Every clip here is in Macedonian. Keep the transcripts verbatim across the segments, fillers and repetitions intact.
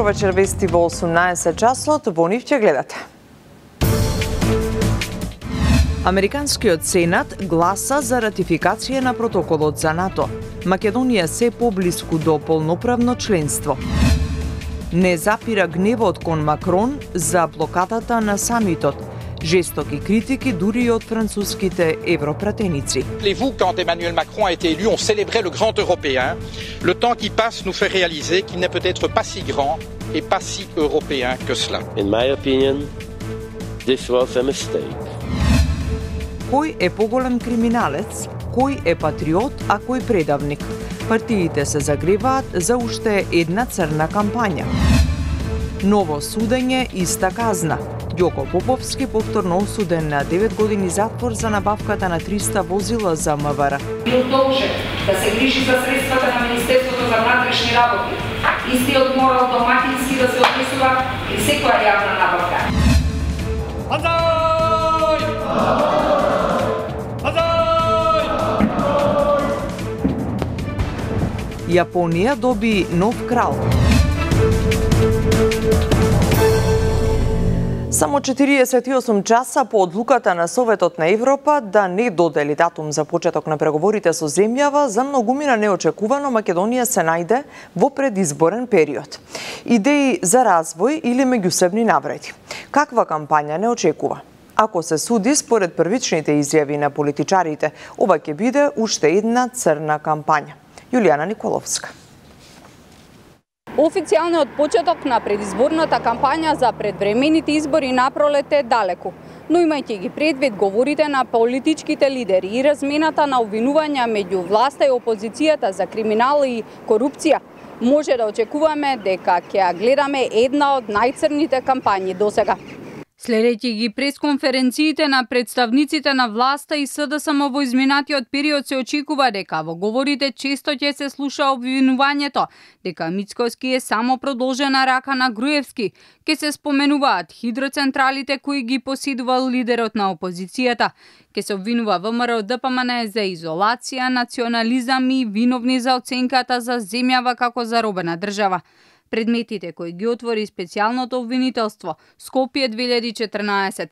Добровечер, вести во осумнаесет часот, во нив ќе гледате. Американскиот Сенат гласа за ратификација на протоколот за НАТО. Македонија се поблиску до полноправно членство. Не запира гневот кон Макрон за блокадата на самитот. Жестоки критики дури и од француските европратеници. Rappelez-vous, quand Emmanuel Macron a été élu, on célébrait le grand européen. Le temps qui passe nous fait réaliser qu'il n'est peut-être pas si grand et pas si européen que cela. In my opinion, this was a mistake. Кој е поголем криминалец, кој е патриот, а кој предавник? Партиите се загреваат за уште една црна кампања. Ново судење, иста казна. Ѓоко Поповски повторно осуден на девет години затвор за набавката на триста возила за МВР. Бил должен да се грижи за средствата на Министерството за внатрешни работи. Истиот морал домакински да се однесува при секоја јавна набавка. Базај! Базај! Јапонија доби нов крал. Само четириесет и осум часа по одлуката на Советот на Европа да не додели датум за почеток на преговорите со земјава, за многумина неочекувано Македонија се најде во предизборен период. Идеи за развој или меѓусебни навреди. Каква кампања не очекува? Ако се суди според првичните изјави на политичарите, ова ќе биде уште една црна кампања. Јулијана Николовска. Официјалниот почеток на предизборната кампања за предвремените избори напролет е далеку, но имајќи ги предвид говорите на политичките лидери и размената на обвинувања меѓу власта и опозицијата за криминал и корупција, може да очекуваме дека ќе ја гледаме една од најцрните кампањи досега. Следејќи ги пресконференциите на представниците на власта и СДСМ во изминатиот период, се очекува дека во говорите често ќе се слуша обвинувањето дека Мицкоски е само продолжена рака на Груевски, ќе се споменуваат хидроцентралите кои ги поседувал лидерот на опозицијата, ќе се обвинува ВМРО ДПМН за изолација, национализам и виновни за оценката за земјава како заробена држава. Предметите кои ги отвори специјалното обвинителство Скопје две илјади и четрнаесет.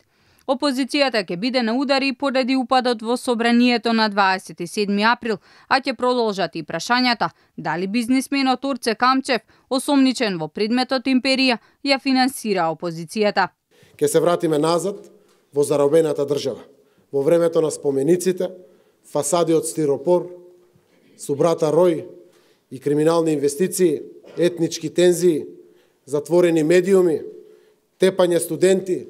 Опозицијата ќе биде на удари поради упадот во собранието на дваесет и седми април, а ќе продолжат и прашањата дали бизнисменот Орце Камчев, осомничен во предметот империја, ја финансира опозицијата. Ќе се вратиме назад во заробената држава, во времето на спомениците, фасади од стиропор, субрата рој и криминални инвестиции, етнички тензии, затворени медиуми, тепање студенти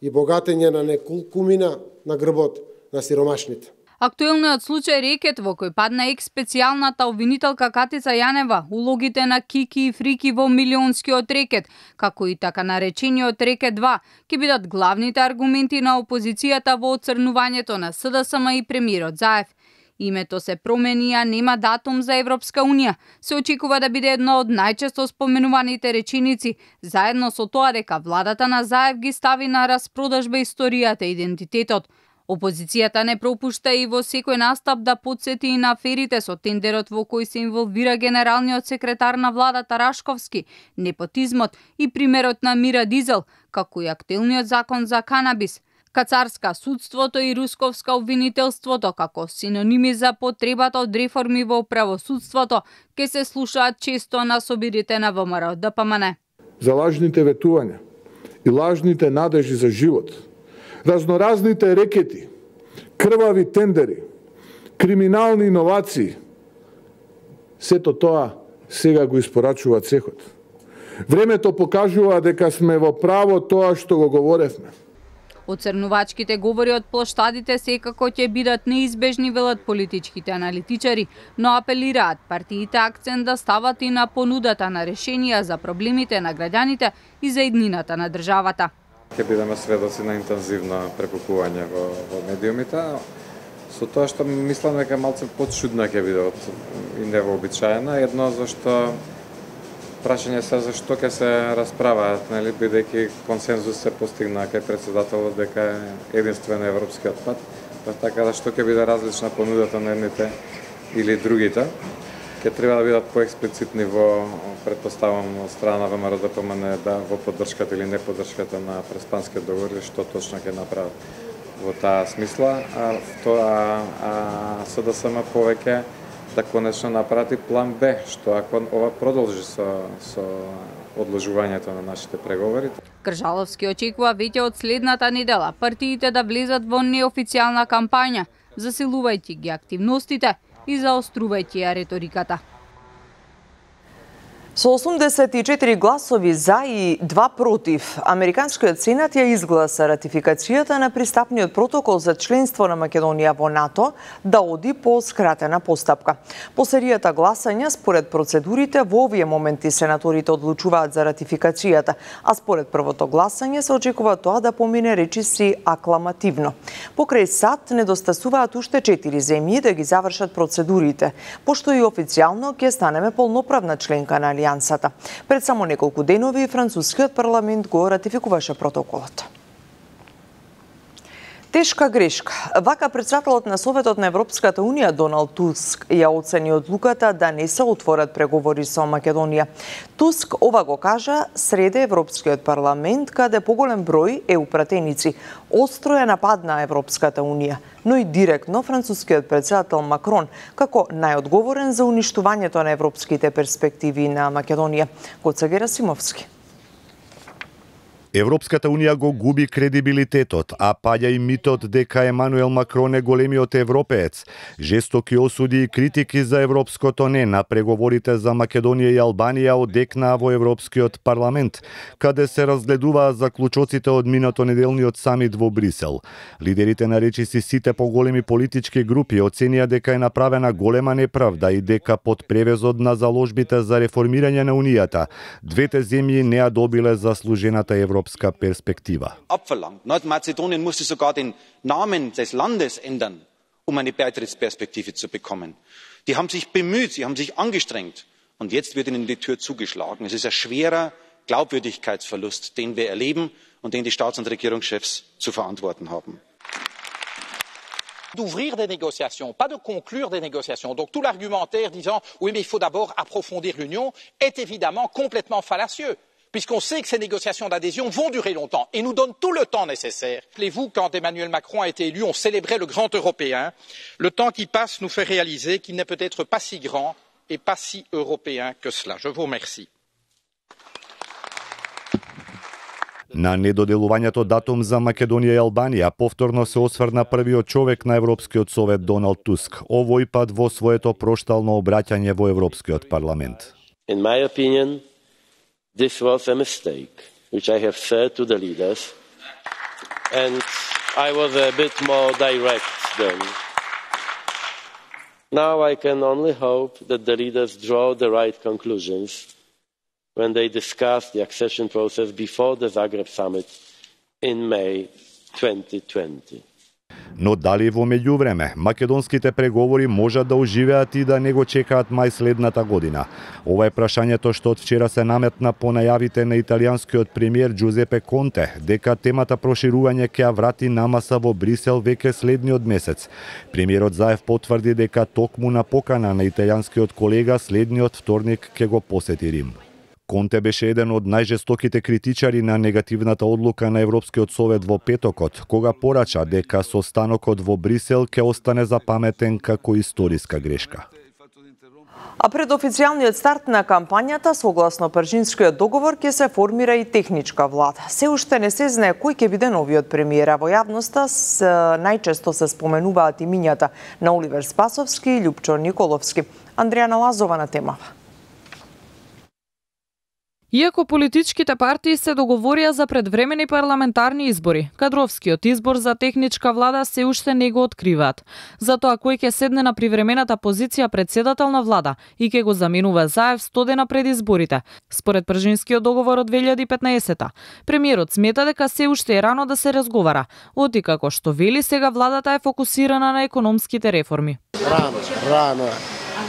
и богатење на неколкумина на грбот на сиромашните. Актуелниот случај Рекет, во кој падна екс-специјалната обвинителка Катица Јанева, улогите на Кики и Фрики во милионскиот рекет, како и така наречениот Рекет два, ќе бидат главните аргументи на опозицијата во оцрнувањето на СДСМ и премиерот Заев. Името се промени, а нема датум за Европска унија. Се очекува да биде едно од најчесто споменуваните реченици, заедно со тоа дека владата на Заев ги стави на распродажба историјата и идентитетот. Опозицијата не пропушта и во секој настап да подсети и на аферите со тендерот во кој се инволвира генералниот секретар на владата Рашковски, непотизмот и примерот на Мира Дизел, како и актуелниот закон за канабис. Кацарска судството и русковска обвинителството како синоними за потребата од реформи во правосудството ќе се слушаат често на собирите на ВМРО ДПМН. За лажните ветувања и лажните надежи за живот, разноразните рекети, крвави тендери, криминални иновации, сето тоа сега го испорачува цехот. Времето покажува дека сме во право тоа што го говоревме. Оцрнувачките говори од плоштадите секако ќе бидат неизбежни, велат политичките аналитичари, но апелираат партиите акцент да стават и на понудата на решенија за проблемите на граѓаните и за иднината на државата. Ќе бидеме сведоци на интензивно прекукување во, во медиумите, со тоа што мислам дека малце подшудна ќе биде од и невообичаена, едно зашто прашање се зашто ќе се расправаат, нели, бидејќи консензус се постигна кај председателот дека е единствен европскиот пат, па така зашто ќе биде различна понудата на едните или другите. ќе треба да бидат поексплицитни во, предпоставам, страна ВМРО да помане да во поддршката или неподдршката на преспанскиот договор, што точно ќе направат во таа смисла, а тоа а, СДСМ повеќе да конечно напрати план Б, што ако ова продолжи со, со одложувањето на нашите преговори. Кржаловски очекува веќе од следната недела партиите да влезат во неофицијална кампања, засилувајќи ги активностите и заострувајќи ја реториката. Со осумдесет и четири гласови за и два против, Американскиот сенат ја изгласа ратификацијата на пристапниот протокол за членство на Македонија во НАТО да оди по скратена постапка. По серијата гласања, според процедурите, во овие моменти сенаторите одлучуваат за ратификацијата, а според првото гласање се очекува тоа да помине речиси акламативно. Покрај САД недостасуваат уште четири земји да ги завршат процедурите, пошто и официјално ќе станеме полноправна членка на Алијансата. Пред само неколку денови францускиот парламент го ратификуваше протоколот. Тешка грешка. Вака председателот на Советот на Европската Унија Доналд Туск ја оцени одлуката да не се отворат преговори со Македонија. Туск ова го кажа среде Европскиот парламент, каде поголем број еу пратеници остро ја нападна Европската Унија, но и директно францускиот председател Макрон како најодговорен за уништувањето на европските перспективи на Македонија. Гоце Герасимовски. Европската Унија го губи кредибилитетот, а паѓа и митот дека Емануел Макрон е големиот европеец. Жестоки осуди и критики за европското не на преговорите за Македонија и Албанија одекнаа во Европскиот парламент, каде се разгледуваа заклучоците од минато неделниот самит во Брисел. Лидерите на речиси сите поголеми политички групи оценија дека е направена голема неправда и дека под превезот на заложбите за реформирање на Унијата, двете земји не ја добиле заслужената европска Perspektive. Abverlangt. Nordmazedonien musste sogar den Namen des Landes ändern, um eine Beitrittsperspektive zu bekommen. Die haben sich bemüht, sie haben sich angestrengt. Und jetzt wird ihnen die Tür zugeschlagen. Es ist ein schwerer Glaubwürdigkeitsverlust, den wir erleben und den die Staats- und Regierungschefs zu verantworten haben. D'ouvrir des négociations, pas de conclure des négociations. Donc tout l'argumentaire disant oui mais il faut d'abord approfondir l'Union est évidemment complètement fallacieux, puisqu'on sait que ces négociations d'adhésion vont durer longtemps et nous donnent tout le temps nécessaire. Rappelez-vous, quand Emmanuel Macron a été élu, on célébrait le grand européen. Le temps qui passe nous fait réaliser qu'il n'est peut-être pas si grand et pas si européen que cela. Je vous remercie. На недоделувањето датум за Македонија и Албанија повторно се осврна првиот човек на Европскиот совет Доналд Туск, овој пат во своето проштално обраќање во Европскиот парламент. In my opinion, this was a mistake, which I have said to the leaders, and I was a bit more direct then. Now I can only hope that the leaders draw the right conclusions when they discuss the accession process before the Zagreb summit in May twenty twenty. Но дали во меѓувреме македонските преговори можат да оживеат и да не го чекаат мај следната година? Ова е прашањето што од вчера се наметна по најавите на италијанскиот премиер Джузепе Конте, дека темата проширување ќе ја врати намаса во Брисел веќе следниот месец. Премиерот Заев потврди дека токму на покана на италијанскиот колега следниот вторник ќе го посети Рим. Конте беше еден од најжестоките критичари на негативната одлука на Европскиот совет во петокот, кога порача дека состанокот во Брисел ќе остане запаметен како историска грешка. А пред официјалниот старт на кампањата, согласно Пржинскиот договор, ќе се формира и техничка влада. Се уште не се знае кој ќе биде новиот премиер, а во јавноста најчесто се споменуваат имињата на Оливер Спасовски и Љупчо Николовски. Андријана Лазова на темава. Иако политичките партии се договорија за предвремени парламентарни избори, кадровскиот избор за техничка влада се уште не го откриваат. Затоа кој ќе седне на привремената позиција председател на влада и ќе го заменува Заев сто дена пред изборите, според Пржинскиот договор од две илјади и петнаесета. Премиерот смета дека се уште е рано да се разговара, оти како што вели сега владата е фокусирана на економските реформи. Рано, рано е.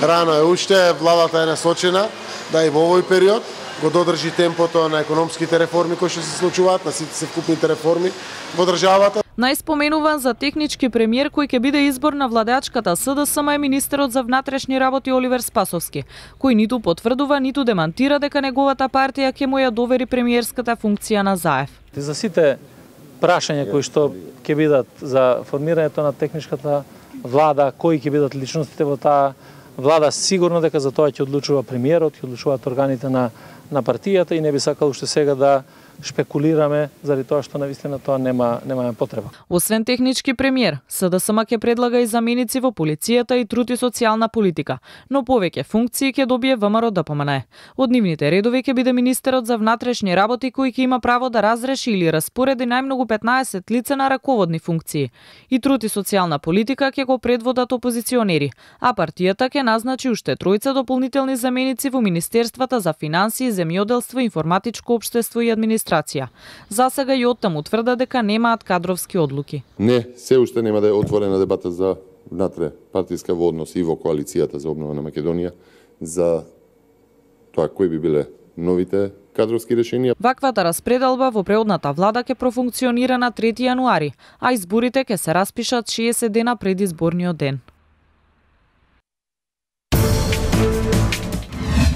Рано е уште, владата е насочена да и во овој период го додржи темпото на економските реформи кои што се случуваат, на сите севкупните реформи во државата. Најспоменуван за технички премиер кој ќе биде избор на владеачката СДСМ е министерот за внатрешни работи Оливер Спасовски, кој ниту потврдува, ниту демантира дека неговата партија ќе му ја довери премиерската функција на Заев. За сите прашања кои што ќе бидат за формирањето на техничката влада, кои ќе бидат личностите во таа влада, сигурно дека за тоа ќе одлучува премиерот, ќе одлучуваат органите на на партијата и не би сакал уште сега да шпекулираме заради тоа што навистина тоа нема немаме потреба. Освен технички премиер, СДСМ ќе предлага и заменици во полицијата и труд и социјална политика, но повеќе функции ќе добие ВМРО ДПМН. Од нивните редови ќе биде министерот за внатрешни работи кој ќе има право да разреши или распореди најмногу петнаесет лица на раководни функции. И труд и социјална политика ќе го предводат опозиционери, а партијата ќе назначи уште тројца дополнителни заменици во министерствата за финансии, земјоделство, информатичко општество и администрација. За сега и оттаму тврда дека немаат кадровски одлуки. Не, се уште нема да е отворена дебата за внатре партиска во однос и во коалицијата за обнова на Македонија за тоа кои би биле новите кадровски решенија. Ваквата распределба во преодната влада ќе профункционира на трети јануари, а изборите ќе се распишат шеесет дена пред изборниот ден.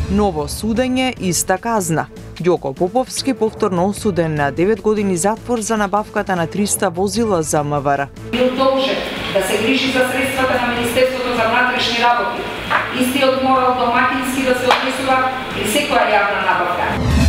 Ново судење, иста казна. Ѓоко Поповски повторно осуден на девет години затвор за набавката на триста возила за МВР. Бил должен да се грижи за средствата на Министерството за внатрешни работи. Истиот морал домакински да се однесува при секоја јавна набавка.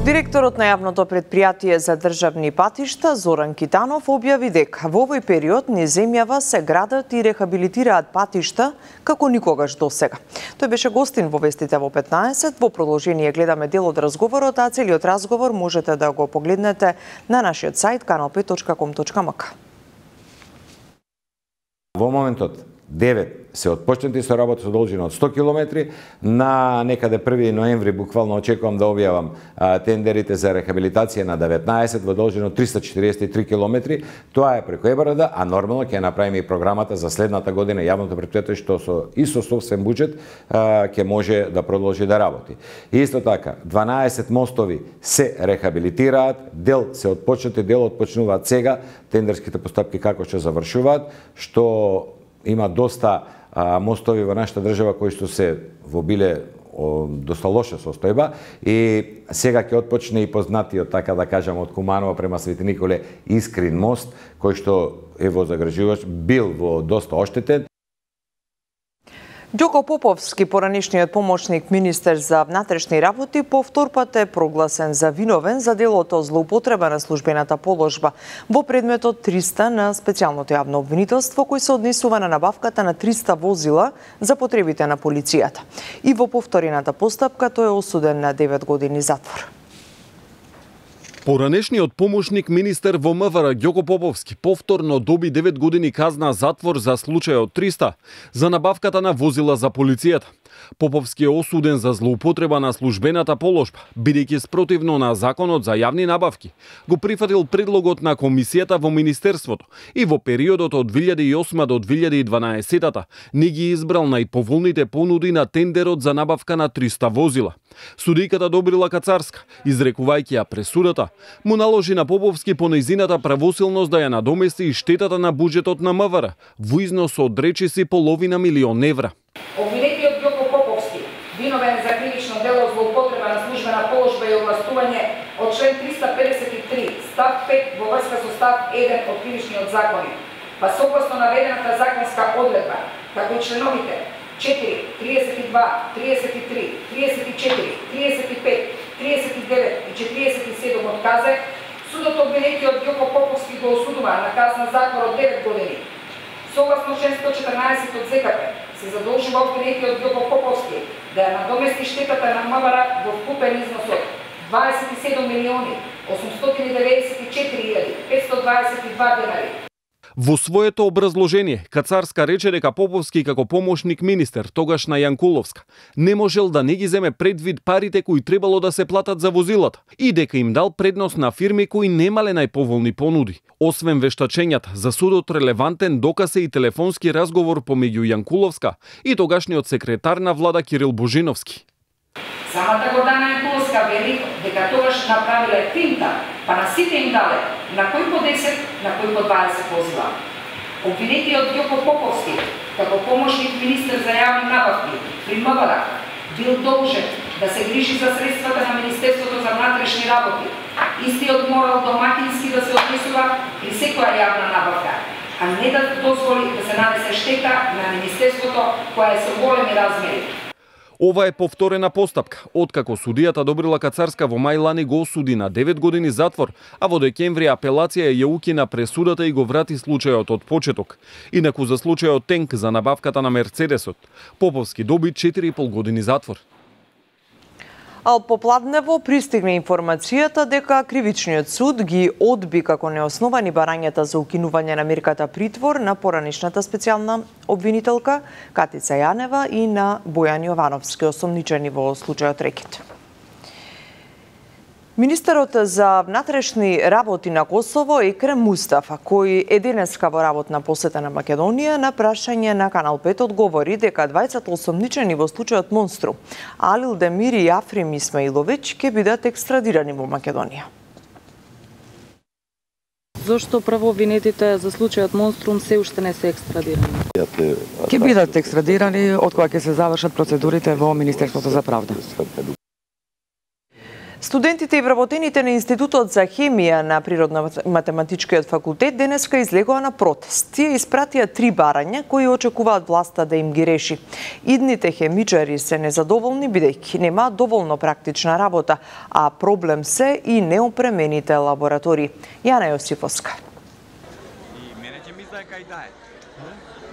Директорот на јавното предпријатие за државни патишта Зоран Китанов објави дека во овој период низ земјава се градат и рехабилитираат патишта како никогаш досега. Тој беше гостин во Вестите во петнаесет. Во продолжение гледаме дел од разговорот, а целиот разговор можете да го погледнете на нашиот сајт канал пет точка ком точка ем ка. Во моментот девет се отпочнати со работа со должина од сто километри, на некаде први ноември буквално очекувам да објавам а, тендерите за рехабилитација на деветнаесет во должина од триста четириесет и три километри. Тоа е преку ЕБРД, а нормално ќе направиме и програмата за следната година јавното предпријатие што со и со собствен буџет а, ќе може да продолжи да работи. И исто така, дванаесет мостови се рехабилитираат, дел се отпочнати, дел отпочнуваат сега, тендерските постапки како ќе завршуваат, што има доста а, мостови во нашата држава кои што се во биле о, доста лоша состојба и сега ќе отпочне и познатиот, така да кажам, од Куманова према Свети Николе Искрин мост, кој што е во загрижувач, бил во доста оштетен. Ѓоко Поповски, поранешниот помошник министер за внатрешни работи, повтор пат е прогласен за виновен за делото злоупотреба на службената положба во предметот триста на специјалното јавно обвинителство кој се однесува на набавката на триста возила за потребите на полицијата. И во повторената постапка тој е осуден на девет години затвор. Поранешниот помошник министер во МВР Ѓоко Поповски повторно доби девет години казна затвор за случајот триста за набавката на возила за полицијата. Поповски е осуден за злоупотреба на службената положба, бидејќи спротивно на законот за јавни набавки. Го прифатил предлогот на комисијата во министерството и во периодот од две илјади и осма до две илјади и дванаесета не ги избрал најповолните понуди на тендерот за набавка на триста возила. Судијката Добрила Кацарска, изрекувајќи ја пресудата, му наложи на Поповски по нејзината правосилност да ја надомести и штетата на буџетот на МВР во износ од речиси половина милион евра. Обвинетиот Ѓоко Поповски, виновен за кривично дело злоупотреба на службена положба и овластување од член триста педесет и три, став пет во врска со став еден од кривичниот закони, па согласно наведената законска одредба, како и членовите четири, триесет и два, триесет и три, триесет и четири, триесет и пет, триесет и девет и четириесет и седум од казе, судот обвинетиот Ѓоко Поповски го осудува на казна затвор од девет години. Согласно член сто четрнаесет од ЗКП се задолжува обвинетиот Ѓоко Поповски да ја надомести штетата на МВР во вкупен износ од дваесет и седум милиони осумстотини деветдесет и четири илјади петстотини дваесет и два денари. Во своето образложение, Кацарска рече дека Поповски како помошник министер, тогаш на Јанкуловска, не можел да не ги земе предвид парите кои требало да се платат за возилата и дека им дал предност на фирми кои немале најповолни понуди. Освен вештачењата, за судот релевантен доказ е и телефонски разговор помеѓу Јанкуловска и тогашниот секретар на влада Кирил Божиновски. Самата Гордана Јанкуловска вели дека тогаш направиле финта, па на сите им дале, на кој по десет, на кој по дваесет возила. Обвинетиот Ѓоко Поповски, како помошник министер за јавни набавки при МВР, бил должен да се грижи за средствата на Министерството за внатрешни работи. Истиот морал домакински да се однесува при секоја јавна набавка, а не да дозволи да се нанесе штета на Министерството која е со големи размери. Ова е повторена постапка, откако судијата Добрила Кацарска во мај лани го осуди на девет години затвор, а во декември апелација ја укина пресудата и го врати случајот од почеток. Инаку за случајот Тенк за набавката на Мерцедесот, Поповски доби четири и пол години затвор. Ал попладнево пристигне информацијата дека Кривичниот суд ги одби како неосновани барањата за укинување на мерката притвор на поранишната специјална обвинителка Катица Јанева и на Бојан Јовановски, осомничени во случајот Рекет. Министерот за внатрешни работи на Косово Екрем Мустафа, кој е денеска во работна посета на Македонија, на прашање на Канал пет одговори дека двајцата осомничени во случајот Монструм, Алил Демир и Африм Исмаиловиќ, ќе бидат екстрадирани во Македонија. Зошто правообвинетите за случајот Монструм се уште не се екстрадирани? Ќе бидат екстрадирани од кога ќе се завршат процедурите во Министерството за правда. Студентите и вработените на Институтот за хемија на Природно-математичкиот факултет денеска излегоа на протест. Тие испратија три барања кои очекуваат власта да им ги реши. Идните хемичари се незадоволни бидејќи немаат доволно практична работа, а проблем се и неопремените лаборатории. Јана Јосифовска.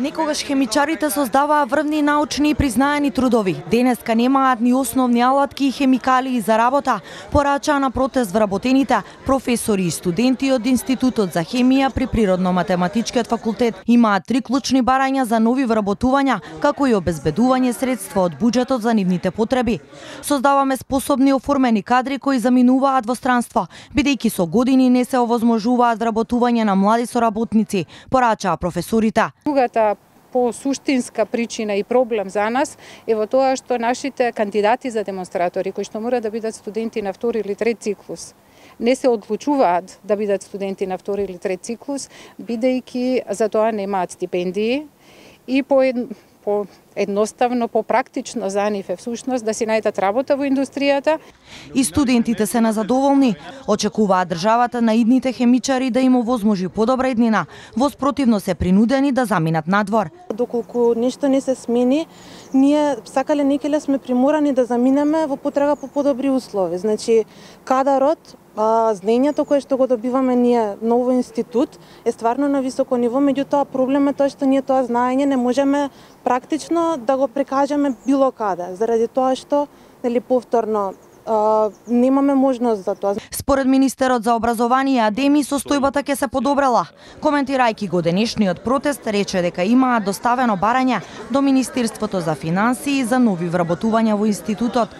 Некогаш хемичарите создаваа врвни научни и признаени трудови. Денеска немаат ни основни алатки и хемикалии за работа, порачаа на протест вработените професори и студенти од Институтот за хемија при Природно-математичкиот факултет. Имаат три клучни барања за нови вработувања, како и обезбедување средства од буџетот за нивните потреби. Создаваме способни оформени кадри кои заминуваат во странство, бидејќи со години не се овозможуваат вработување на млади соработници, порачаа професорите. По суштинска причина и проблем за нас е во тоа што нашите кандидати за демонстратори, кои што мора да бидат студенти на втори или трет циклус, не се одлучуваат да бидат студенти на втори или трет циклус, бидејќи за тоа немаат стипендии и по по едноставно, попрактично за нив е всушност да си најдат работа во индустријата. И студентите се незадоволни. Очекуваат државата на идните хемичари да им овозможи подобра иднина. Воспротивно се принудени да заминат надвор. Доколку нешто не се смени, ние сакале некеле сме приморани да заминеме во потрага по подобри услови. Значи, кадарот, А, знаењето кое што го добиваме ние ново институт е стварно на високо ниво, меѓутоа проблем е тоа што ние тоа знаење не можеме практично да го прекажеме било каде, заради тоа што нели повторно а, немаме можност за тоа. Според министерот за образование Адеми состојбата ќе се подобрела. Коментирајќи го денешниот протест, рече дека имаат доставено барање до Министерството за финансии за нови вработувања во институтот.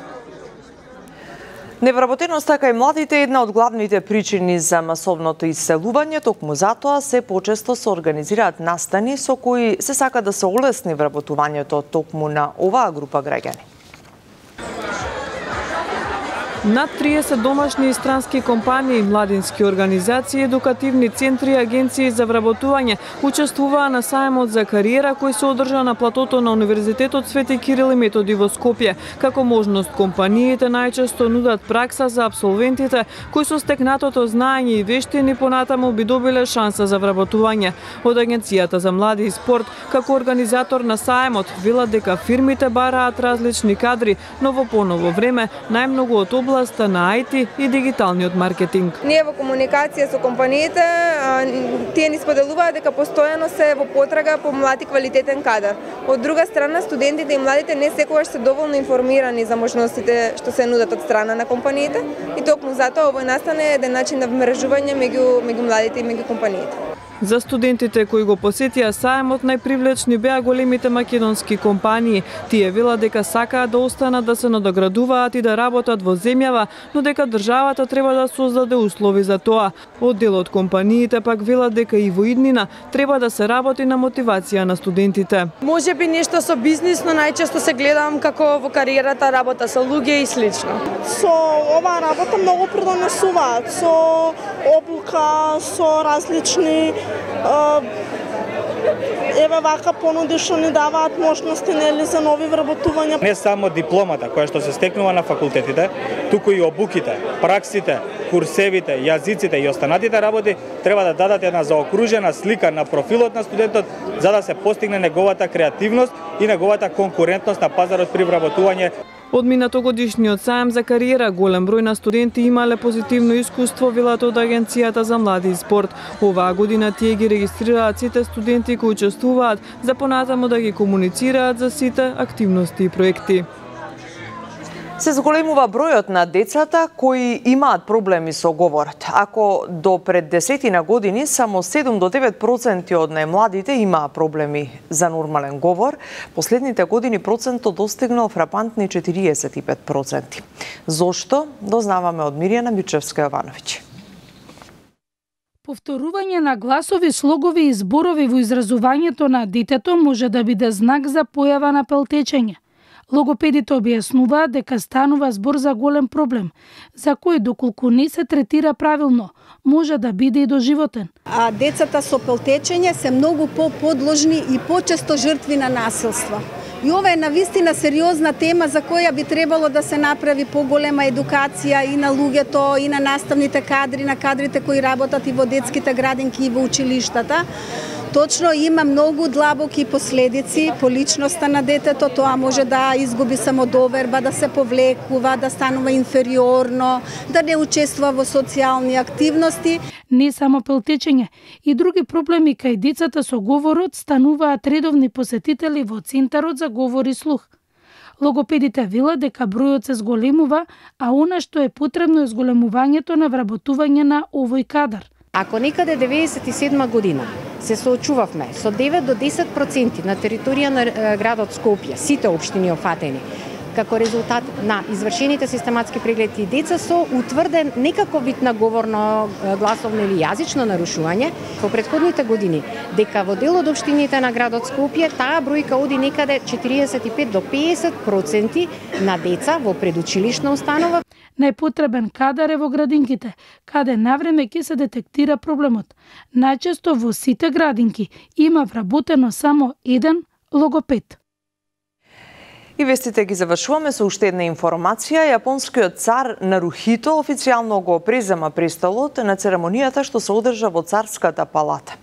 Невработеноста кај младите е една од главните причини за масовното иселување, токму затоа се почесто се организираат настани со кои се сака да се олесни вработувањето токму на оваа група граѓани. Над триесет домашни и странски компании, младински организации, едукативни центри и агенции за вработување учествуваа на сајмот за кариера кој се одржа на платото на Универзитетот Свети Кирил и Методи во Скопје. Како можност, компаниите најчесто нудат пракса за абсолвентите кои со стекнатото знаење и вештини понатаму би добиле шанса за вработување. Од Агенцијата за млади и спорт, како организатор на сајмот, велат дека фирмите бараат различни кадри, но во поново време најмногу од областа на ај ти и дигиталниот маркетинг. Ние во комуникација со компаниите, тие ни споделуваат дека постојано се во потрага по млад и квалитетен кадар. Од друга страна, студентите и младите не секогаш се доволно информирани за можностите што се нудат од страна на компаниите и токму затоа овој настан е еден начин на вмрежување меѓу меѓу младите и меѓу компаниите. За студентите кои го посетија саемот, најпривлечни беа големите македонски компании. Тие велат дека сакаат да останат да се надоградуваат и да работат во земјава, но дека државата треба да создаде услови за тоа. Од дел од компаниите пак велат дека и во иднина треба да се работи на мотивација на студентите. Може би нешто со бизнис, но најчесто се гледам како во кариерата работа со луѓе и слично. Со оваа работа многу придонесуваат, со облука, со различни еве вака понуди што ни даваат можности нели за нови вработувања. Не само дипломата која што се стекнува на факултетите, туку и обуките, праксите, курсевите, јазиците и останатите работи треба да дадат една заокружена слика на профилот на студентот за да се постигне неговата креативност и неговата конкурентност на пазарот при вработување. Од минатогодишниот саем за кариера голем број на студенти имале позитивно искуство, велат од Агенцијата за млади и спорт. Оваа година тие ги регистрираат сите студенти кои учествуваат за понатаму да ги комуницираат за сите активности и проекти. Се зголемува бројот на децата кои имаат проблеми со говорот. Ако до пред десетина години само седум до девет проценти од најмладите имаа проблеми за нормален говор, последните години процентот достигнал фрапантни четириесет и пет проценти. Зошто? Дознаваме од Мирјана Мичевска-Јовановиќ. Повторување на гласови, слогови и зборови во изразувањето на детето може да биде знак за појава на пелтечење. Логопедите објаснуваат дека станува збор за голем проблем, за кој доколку не се третира правилно, може да биде и доживотен. А децата со пелтечење се многу по-подложни и почесто жртви на насилство. И ова е навистина сериозна тема за која би требало да се направи поголема едукација и на луѓето, и на наставните кадри, на кадрите кои работат и во детските градинки и во училиштата. Точно има многу длабоки последици по личноста на детето, тоа може да изгуби самодоверба, да се повлекува, да станува инфериорно, да не учествува во социјални активности. Не само пелтечење, и други проблеми кај децата со говорот стануваат редовни посетители во Центарот за говор и слух. Логопедите велат дека бројот се зголемува, а она што е потребно е зголемувањето на вработување на овој кадар. Ако некаде деветдесет и седма година се соочувавме со девет до десет проценти на територија на градот Скопје, сите општини офатени, како резултат на извршените систематски прегледи деца со утврден некаков вид на говорно, гласовно или јазично нарушување, во претходните години, дека во дел од општините на градот Скопје таа бројка оди некаде четириесет и пет до песет проценти на деца во предучилишна установа. Најпотребен кадар е во градинките, каде навреме ќе се детектира проблемот. Најчесто во сите градинки има вработено само еден логопед. И вестите ги завршуваме со уште една информација. Јапонскиот цар Нарухито официјално го презема престолот на церемонијата што се одржа во Царската палата.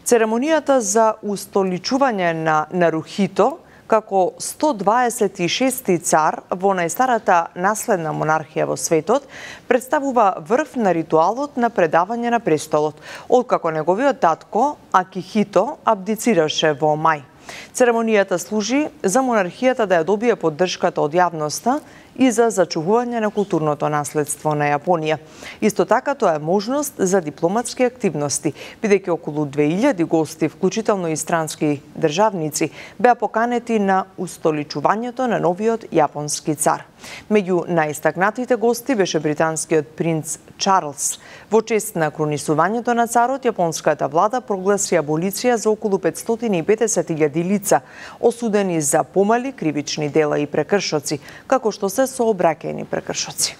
Церемонијата за устоличување на Нарухито како сто дваесет и шести цар во најстарата наследна монархија во светот, представува врв на ритуалот на предавање на престолот, откако неговиот татко Акихито абдицираше во мај. Церемонијата служи за монархијата да ја добие поддршката од јавноста и за зачувување на културното наследство на Јапонија. Исто така тоа е можност за дипломатски активности, бидејќи околу две илјади гости, вклучително и странски државници, беа поканети на устоличувањето на новиот јапонски цар. Меѓу најистакнатите гости беше британскиот принц Чарлс. Во чест на кронисувањето на царот, јапонската влада прогласи аболиција за околу петстотини и педесет илјади лица, осудени за помали кривични дела и прекршоци, како што се сообраќајни прекршоци.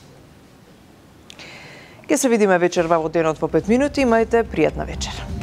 Ке се видиме вечерва во денот во пет минути, имајте пријатна вечер.